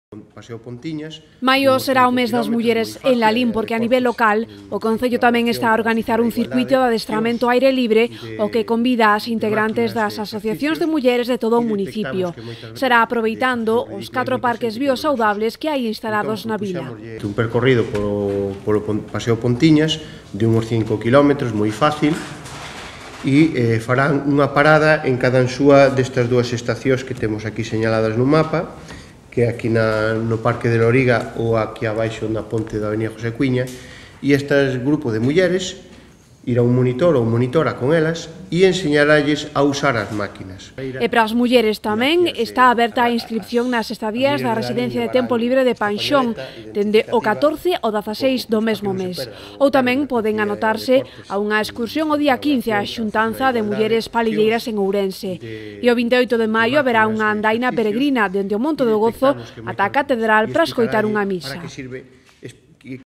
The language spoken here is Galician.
Paseo Pontiñas. Maio será o mes das mulleres en Lalín porque a nivel local o Concello tamén está a organizar un circuito de adestramento ao aire libre o que convida ás integrantes das asociacións de mulleres de todo o municipio. Será aproveitando os 4 parques biosaudables que hai instalados na vila. Un percorrido polo Paseo Pontiñas de uns 5 km, moi fácil, e farán unha parada en cada súa destas dúas estacións que temos aquí señaladas no mapa, que é aquí no Parque de Loriga ou aquí abaixo na ponte da Avenida José Cuiña, e este grupo de mulleres irá un monitor ou monitora con elas e enseñaralles a usar as máquinas. E para as mulleres tamén está aberta a inscripción nas estadías da Residencia de Tempo Libre de Panxón dende o 14 ao 16 do mesmo mes. Ou tamén poden anotarse a unha excursión o día 15 á xuntanza de mulleres palilleiras en Ourense. E o 28 de maio haberá unha andaina peregrina dende o Monte do Gozo ata a Catedral para escoitar unha misa.